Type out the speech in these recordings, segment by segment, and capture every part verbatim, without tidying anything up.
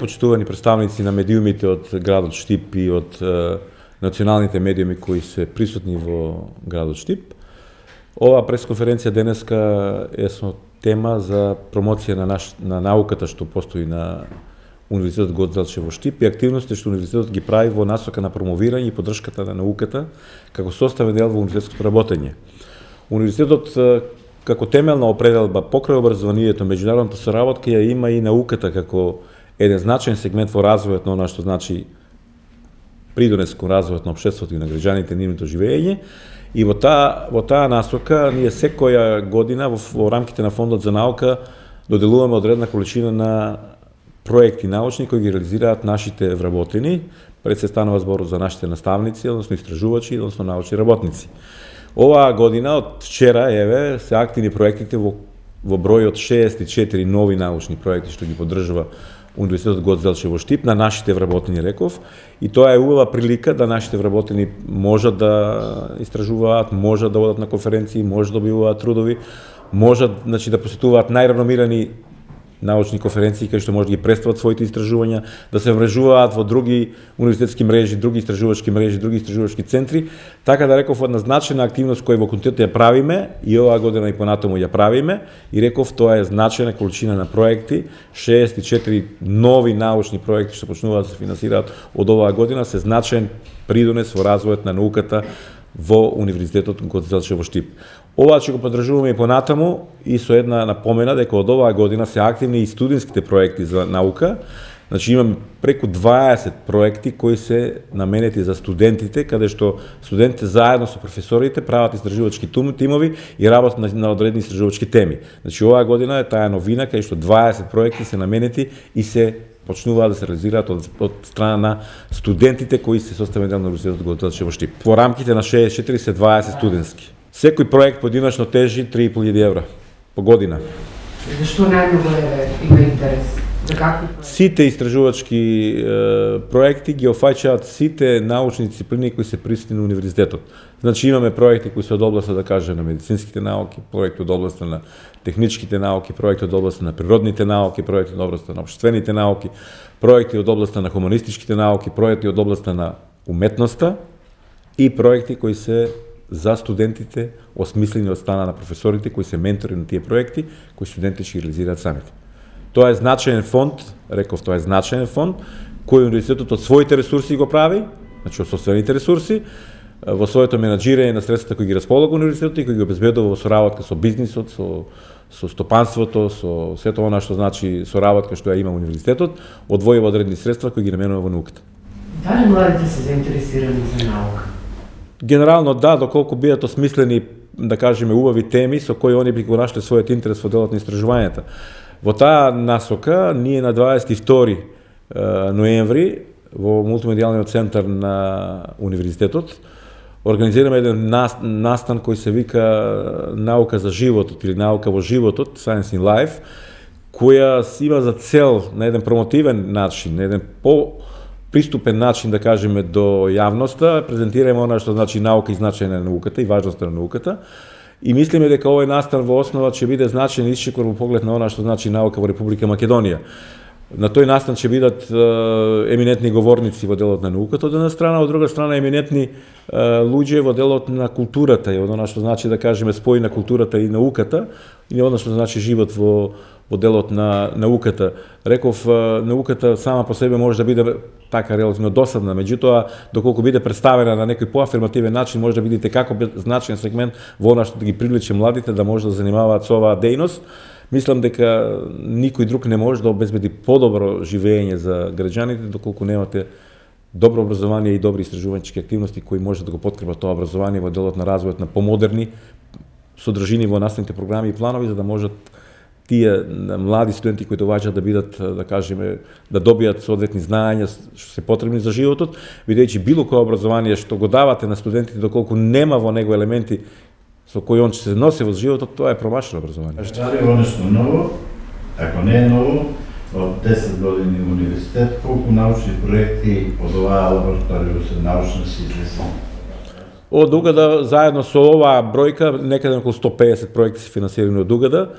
почитувани представници на медиумите од градот Штип и од е, националните медиуми кои се присутни во градот Штип. Ова пресконференција денеска е со тема за промоција на, наш, на науката што постои на Универзитетот Гоце во Штип и активности што Универзитетот ги прави во насока на промовирање и поддршката на науката како составен дел во универзитетското работење. Универзитетот како темелна определба покрај образованието, меѓународната соработка ја има и науката како еден значаен сегмент во развојот на она што значи придонес кон развојот на општеството и на граѓаните, нивното живење. И во таа во таа насока ние секоја година во, во рамките на фондот за наука доделуваме одредна количина на проекти научни кои ги реализираат нашите вработени. Пред се станува збор за нашите наставници, односно истражувачи, односно научни работници. Оваа година од вчера еве се активни проектите во во број од шеесет и четири нови научни проекти што ги поддржува Универзитетот Гоце во Штип на нашите вработени, реков, и тоа е убава прилика да нашите вработени можат да истражуваат, можат да одат на конференции, можат да добиваат трудови, можат, значи, да посетуваат најреномирани научни конференции кај што може да ги представат своите истражувања, да се врежуваат во други универзитетски мрежи, други истражувачки мрежи, други истражувачки центри, така да реков една значајна активност која во континуитет ја правиме и оваа година и понатаму ја правиме, и реков тоа е значајна количина на проекти, шеесет и четири нови научни проекти што почнуваат да се финансираат од оваа година, се значаен придонес во развојот на науката во Универзитетот Гоце во Штип. Ова ќе го поддржуваме и понатаму и со една напомена дека од оваа година се активни и студентските проекти за наука. Значи имаме преку дваесет проекти кои се наменети за студентите, каде што студентите заедно со професорите прават истражувачки тимови и работат на, на одредени истражувачки теми. Значи оваа година е таа новина каде што дваесет проекти се наменети и се почнуваат да се реализираат од, од страна на студентите кои се составени дел на Универзитетот Гоце во Штип. Во рамките на шеесет и четири се дваесет студентски. Секој проект поединечно тежи три и пол илјади евра по година. Зашто најмногу има интерес? За какви проекти? Сите истражувачки е, проекти ги офаќаат сите научни дисциплини кои се присутни на универзитетот. Значи имаме проекти кои се од областа, да кажем, на медицинските науки, проекти од областа на техничките науки, проекти од областа на природните науки, проекти од областа на општествените науки, проекти од областа на хуманистичките науки, проекти од областа на уметноста и проекти кои се за студентите, осмислени од страна на професорите кои се ментори на тие проекти, кои студентите ќе реализираат самите. Тоа е значаен фонд, реков, тоа е значаен фонд, кој универзитетот од своите ресурси го прави, значи од собствените ресурси, во своето менаџирање на средствата кои ги располага универзитетот и кои ги обезбедува во соработка со бизнисот, со со стопанството, со сето она што значи соработка што ја има универзитетот, одвојува одредени средства кои ги наменува во науката. Дали младите се заинтересирани за наука? Генерално да, доколку бидат осмислени, да кажеме, убави теми со кои они би го нашле својот интерес во делот на истражувањата. Во таа насока, ние на дваесет и втори ноември во мултимедијалниот центар на универзитетот организираме еден настан кој се вика Наука за животот или Наука во животот, Science in Life, која има за цел на еден промотивен начин, на еден по приступен начин, да кажеме, до јавноста, презентираме она што значи наука и значајна на науката и важноста на науката. И мислиме дека овој настан во основа ќе биде значаен исчекор во поглед на она што значи наука во Република Македонија. На тој настан ќе бидат е, еминентни говорници во делот на науката од една страна, од друга страна еминентни е, луѓе во делот на културата и од она што значи, да кажеме, спој на културата и науката и од она што значи живот во во делот на науката. Реков, науката сама по себе може да биде така релативно досадна, меѓутоа, доколку биде представена на некој поафирмативен начин, може да видите како значаен сегмент во она што да ги привлече младите да може да занимаваат со оваа дејност. Мислам дека никој друг не може да обезбеди подобро живење за граѓаните доколку немате добро образование и добри истражувачки активности кои може да го подкрепат тоа образование во делот на развојот на помодерни содржини во наставните програми и планови, за да можат тие млади студенти кои доаѓаат да бидат, да кажеме, да добијат соодветни знаења што се потребни за животот, бидејќи било кое образование што го давате на студентите доколку нема во него елементи со кои он ќе се носи во животот, тоа е промашено образование. Дали е нешто ново? Ако не е ново, од десет години во универзитет, колку научни проекти од оваа лабораторија се научно се излезе? Од Угада, заедно со оваа бројка, некаде околу сто педесет проекти се финансирани од Угада,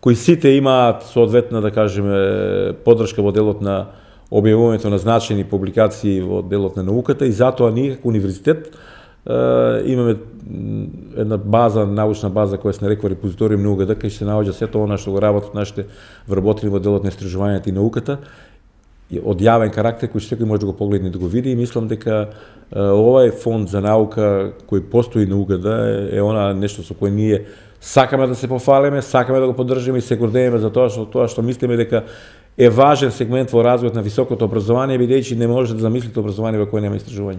кои сите имаат соодветна, да кажеме, поддршка во делот на објавувањето на значајни публикации во делот на науката и затоа ние како универзитет имаме една база, научна база која се нарекува репозиториум на УГД, кај се наоѓа сето она што го работат нашите вработени во делот на истражувањето и науката, од јавен карактер кој секој може да го погледне и да го види, и мислам дека овај фонд за наука кој постои на УГД е она нешто со кое ние сакаме да се пофалиме, сакаме да го поддржиме и се гордееме за тоа што тоа што мислиме дека е важен сегмент во развојот на високото образование, бидејќи не може да замислите образование во кое нема истражување.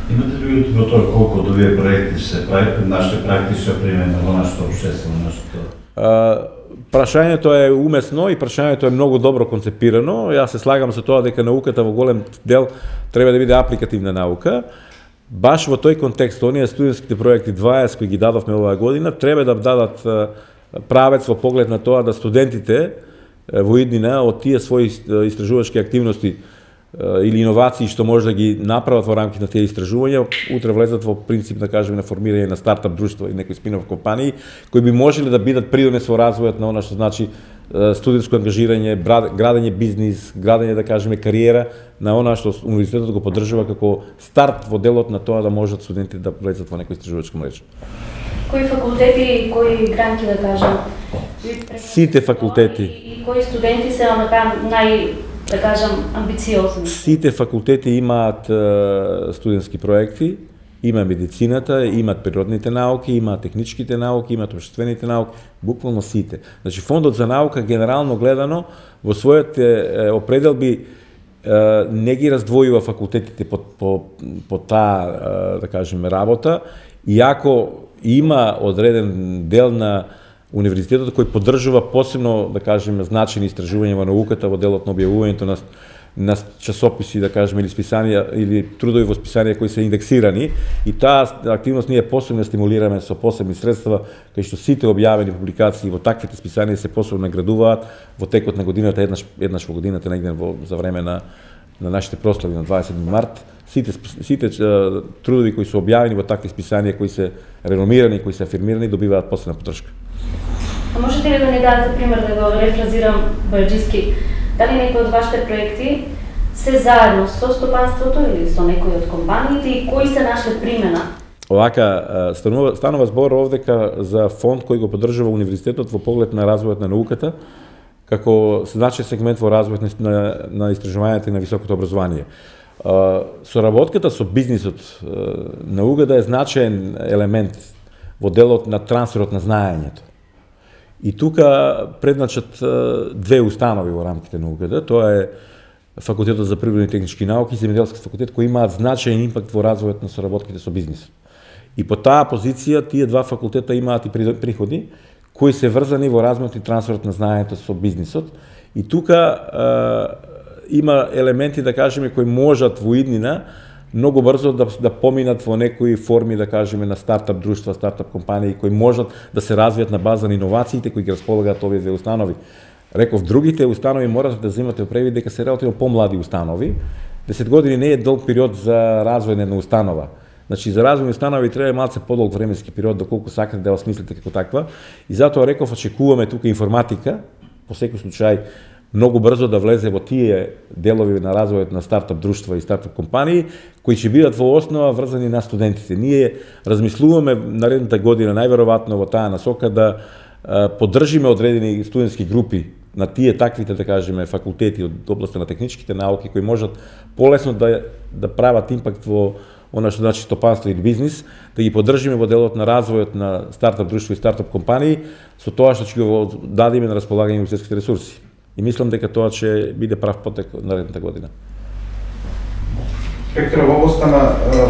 Имате ли во тоа колку од овие проекти се прави нашите практична примена во нашето општество, нашето? Прашањето е умесно и прашањето е многу добро концепирано. Јас се слагам со тоа дека науката во голем дел треба да биде апликативна наука. Баш во тој контекст, оние студентските проекти дваесет кои ги дадовме оваа година, треба да дадат правец во поглед на тоа да студентите во иднина од тие своји истражувачки активности или иновации што може да ги направат во рамките на тие истражувања, утре влезат во принцип, да кажеме, на формирање на стартап друштва и некои спин-оф компании, кои би можеле да бидат придонес во развојот на она што значи студентско ангажирање, градење бизнис, градење, да кажеме, кариера, на она што универзитетот го поддржува како старт во делот на тоа да можат студентите да влезат во некоја истражувачка мрежа. Кои факултети, кои гранти, да кажам? Сите факултети. И кои студенти се нај, да кажам, амбициозни? Сите факултети имаат студентски проекти, има медицината, имаат природните науки, имаат техничките науки, имаат општествените науки, буквално сите. Значи, фондот за наука, генерално гледано, во својите определби не ги раздвојува факултетите по, по, по таа, да кажеме, работа, иако има одреден дел на универзитетот кој поддржува посебно, да кажеме, значајни истражувања во науката во делот на објавувањето на, на часописи, да кажеме, или списанија или трудови во списанија кои се индексирани, и таа активност ние посебно стимулираме со посебни средства, кај што сите објавени публикации во таквите списанија се посебно наградуваат во текот на годината, еднаш еднаш во годината, негде во за време на на нашите прослави на дваесет март. Сите, сите трудови кои се објавени во такви списанија, кои се реномирани, кои се афирмирани, добиваат посебна поддршка. А можете ли да ни дадете пример, да го рефразирам бајаджиски, дали некои од вашите проекти се заедно со стопанството или со некои од компаниите и кои се нашле примена? Овака, станува, станува збор овдека за фонд кој го поддржува универзитетот во поглед на развојот на науката, како значај сегмент во развојот на, на истражувањето и на високото образование. Соработката со бизнисот на УГД е значаен елемент во делот на трансферот на знаењето. И тука предначат две установи во рамките на УГД, тоа е Факултетот за природни и технички науки и Земјоделски факултет, кои имаат значаен импакт во развојот на соработките со бизнисот. И по таа позиција тие два факултета имаат и приходи кои се врзани во размерот и трансферот на знаењето со бизнисот. И тука е, има елементи, да кажеме, кои можат во иднина многу брзо да, да поминат во некои форми, да кажеме, на стартап друштва, стартап компании, кои можат да се развијат на база на иновациите кои ги располагаат овие две установи. Реков, другите установи морате да земате предвид дека се релативно помлади установи. десет години не е долг период за развој на една установа. Значи, за развој на установи треба малце подолг временски период, доколку сакате да осмислите како таква. И затоа реков, очекуваме тука информатика, по секој случај, многу брзо да влезе во тие делови на развојот на стартап друштва и стартап компании, кои ќе бидат во основа врзани на студентите. Ние размислуваме наредната година, најверојатно во таа насока, да поддржиме одредени студентски групи на тие таквите, да кажеме, факултети од областта на техничките науки, кои можат полесно да, да прават импакт во она што значи стопанство или бизнис, да ги поддржиме во делот на развојот на стартап друштва и стартап компании, со тоа што ќе го дадеме на располагање универзитетските ресурси. И мислам дека тоа ќе биде прав потек наредната година. Спектра во областта на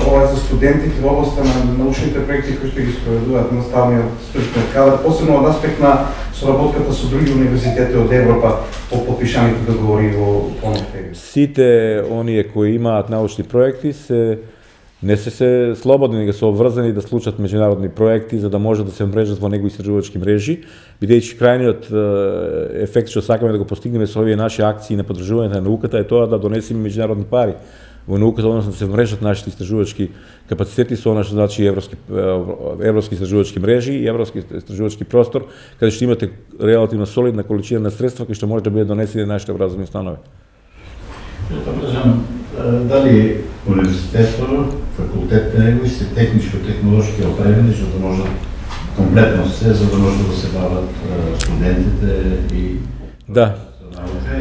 ова за студентите, во областта на научните проекти кои што ги спроведуваат наставниот стручниот кадар, посебно од аспект на соработката со други универзитети од Европа по подпишаните договори во полнов период. Сите оние кои имаат научни проекти се не се се слободни, да се обврзани да случат меѓународни проекти за да може да се мрежат во негови истражувачки мрежи, бидејќи крајниот ефект што сакаме да го постигнеме со овие наши акции на поддржување на науката е тоа да донесеме меѓународни пари во науката, односно да се мрежат нашите истражувачки капацитети со она што значи европски европски истражувачки мрежи и европски истражувачки простор, каде што имате релативно солидна количина на средства кои што може да бидат донесени на нашите образовни установи. Да кажам, дали универзитетот, факултетите негови се техничко-технолошки опремени за да можат комплетно се, за да може да се бават студентите и Да.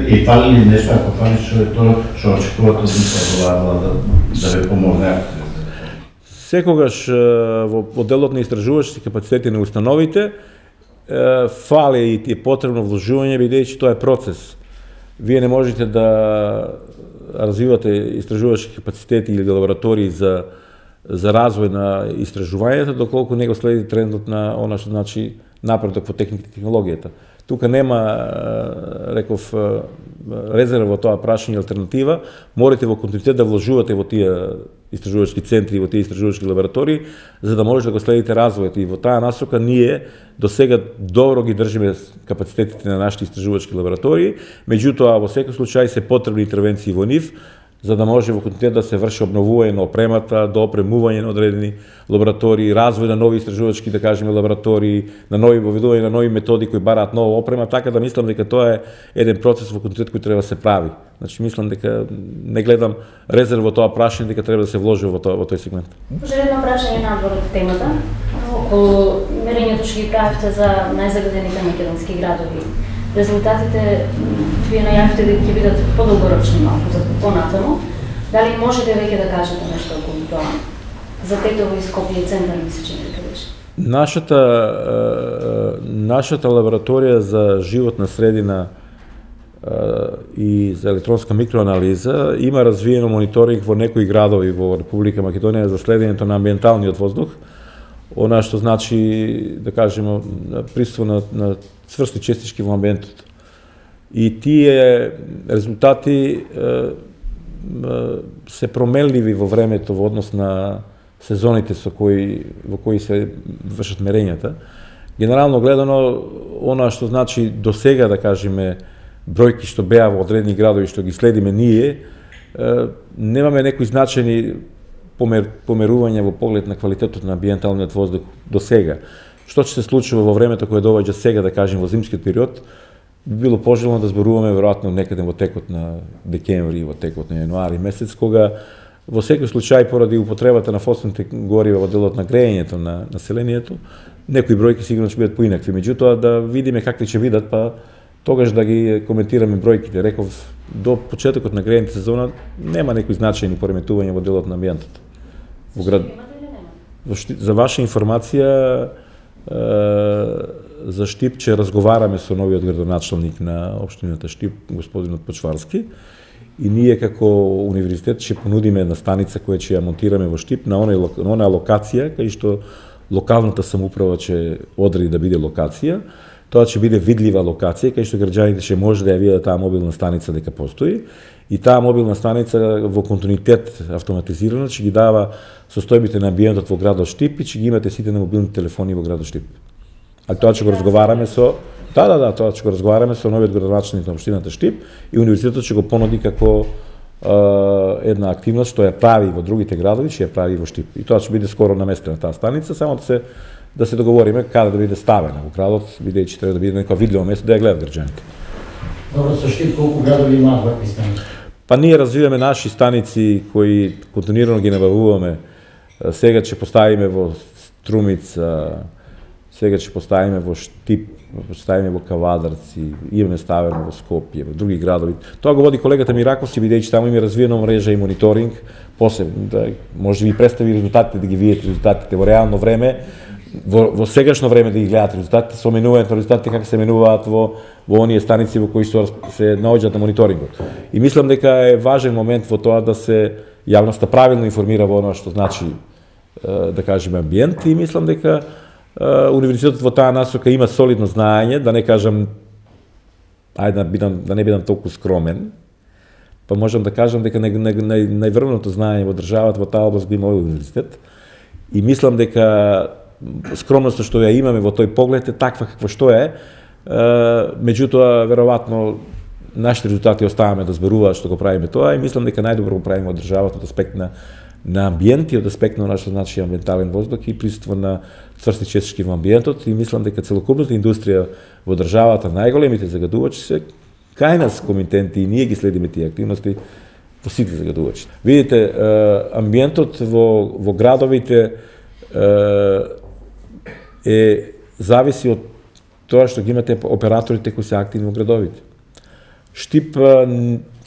И фали ли нешто, ако фали што е тоа, што очекувате од оваа влада да ве помогне? Секогаш во делот на истражувачки капацитети на установите фали и е потребно вложување, бидејќи тоа е процес. Вие не можете да развивате истражувачки капацитети или лаборатории за за развој на истражувањето доколку не го следи трендот на она што значи напредок во техниката и технологијата. Тука нема, реков, резерва во тоа прашање алтернатива, морате во континуитет да вложувате во тие истражувачки центри, во тие истражувачки лаборатории, за да можете да го следите развојот. И во таа насока ние до сега добро ги држиме капацитетите на нашите истражувачки лаборатории, меѓутоа во секој случај се потребни интервенции во нив, за да може во континуитет да се врши обновување на опремата, до опремување на одредени лаборатории, развој на нови истражувачки, да кажеме, лаборатории, на нови воведување на нови методи кои бараат нова опрема, така да мислам дека тоа е еден процес во континуитет кој треба да се прави. Значи мислам дека не гледам резерва во тоа прашање, дека треба да се вложи во тоа во тој сегмент. Може едно прашање надвор од темата, околу мерењето што ги правите за најзагадените македонски градови. Резултатите вие најавите дека ќе бидат подолгорочни малку за понатаму. Дали можете веќе да кажете нешто околу тоа? За Тетово и Скопје центар ми се чини дека беше. Нашата нашата лабораторија за животна средина и за електронска микроанализа има развиено мониторинг во некои градови во Република Македонија за следењето на амбиенталниот воздух. Она што значи, да кажеме, присуство на, на цврсти честички во амбиентот. И тие резултати е, е, се променливи во времето во однос на сезоните со кои, во кои се вршат мерењата. Генерално гледано, она што значи до сега, да кажеме, бројки што беа во одредени градови што ги следиме ние, е, немаме некои значени помер, померување во поглед на квалитетот на амбиенталниот воздух до сега. Што ќе се случува во времето кое доаѓа сега, да кажем, во зимскиот период, би било пожелно да зборуваме веројатно некаде во текот на декември, во текот на јануари месец, кога во секој случај поради употребата на фосилните горива во делот на грејењето на населението, некои бројки сигурно ќе бидат поинакви. Меѓутоа да видиме какви ќе бидат, па тогаш да ги коментираме бројките. Реков, до почетокот на грејната сезона нема некои значајни пореметувања во делот на амбиентот. Во град... За ваша информација, за Штипче разговараме со новиот градоначалник на општината Штип, господинот Почварски, и ние како универзитет ќе понудиме една станица која ќе ја монтираме во Штип на онај на онаа локација кај што локалната самоуправа ќе одреди да биде локација. Тоа ќе биде видлива локација кај што граѓаните ќе може да ја видат таа мобилна станица дека постои, и таа мобилна станица во континуитет автоматизирано ќе ги дава состојбите на амбиентот во градот Штип и ќе ги имате сите на мобилни телефони во градот Штип. А тоа ќе го разговараме со Да, да, да, тоа ќе го разговараме со новиот градоначалник на општината Штип и универзитетот ќе го понуди како е, една активност што ја прави во другите градови, ќе ја прави во Штип. И тоа ќе биде скоро наместена таа станица, само да се да се договориме каде да биде ставена во градот, бидејќи треба да биде некоја видливо место да ја гледат граѓаните. Добро, со Штип колку градови имаат вакви станици? Па ние развиваме наши станици кои континуирано ги набавуваме. Сега ќе поставиме во Струмица, сега ќе поставиме во Штип, поставиме во Кавадарци, имаме ставено во Скопје, во други градови. Тоа го води колегата Мираковски, бидејќи таму има развиена мрежа и мониторинг, посебно да може да ви представи резултатите, да ги видите резултатите во реално време, во, во сегашно време да ги гледате резултатите, со менувањето на резултатите како се менуваат во во оние станици во кои што се наоѓаат на мониторингот. И мислам дека е важен момент во тоа да се јавноста правилно информира во она што значи да кажеме амбиент, и мислам дека универзитетот во таа насока има солидно знаење, да не кажам, ајде да, бидам, да не бидам толку скромен, па можам да кажам дека нај, нај, нај, најврвното знаење во државата во таа област го има овој универзитет. И мислам дека скромноста што ја имаме во тој поглед е таква каква што е, меѓутоа веројатно нашите резултати оставаме да зборуваат што го правиме тоа, и мислам дека најдобро го правиме од државата од аспект на на амбиент и од аспект на нашето значи амбиентален воздух и присуство на цврсти честички во амбиентот, и мислам дека целокупната индустрија во државата, најголемите загадувачи се кај нас комитенти, и ние ги следиме тие активности, во сите загадувачи. Видите, амбиентот во, во градовите е зависи од тоа што ги имате операторите кои се активни во градовите. Штип,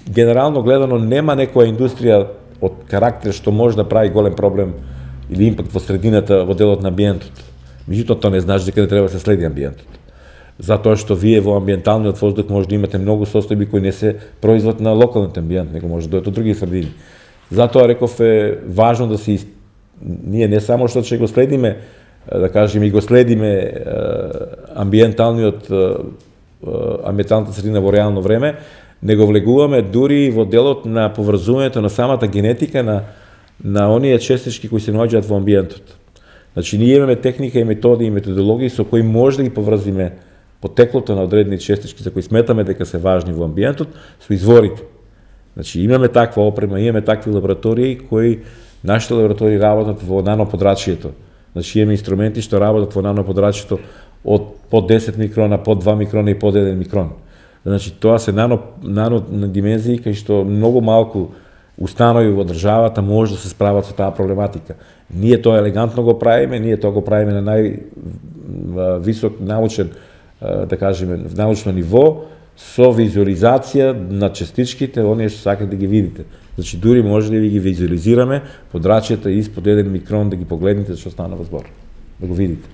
генерално гледано, нема некоја индустрија од карактер што може да прави голем проблем или импакт во средината, во делот на амбиентот. Меѓутоа, тоа не значи дека не треба да се следи амбиентот. Затоа што вие во амбиенталниот воздух може да имате многу состојби кои не се производ на локалниот амбиент, него може да дојдат од други средини. Затоа реков е важно да се ние не само што ќе го следиме, да кажеме и го следиме амбиенталниот амбиенталната средина во реално време, него влегуваме дури во делот на поврзувањето на самата генетика на на оние честички кои се наоѓаат во амбиентот. Значи ние имаме техника и методи и методологии со кои може да ги поврзиме потеклото на одредени честички за кои сметаме дека се важни во амбиентот со изворите. Значи имаме таква опрема, имаме такви лаборатории кои нашите лаборатории работат во наноподрачјето. Значи имаме инструменти што работат во наноподрачјето од по десет микрона, по два микрона и по еден микрон. Значи тоа се нано нано димензии кај што многу малку установи во државата може да се справат со таа проблематика. Ние тоа елегантно го правиме, ние тоа го правиме на највисок научен, да кажеме, научно ниво, со визуализација на частичките, оние што сакате да ги видите. Значи дури може да ви ги визуализираме подрачјата испод еден микрон да ги погледнете што станува збор, да го видите.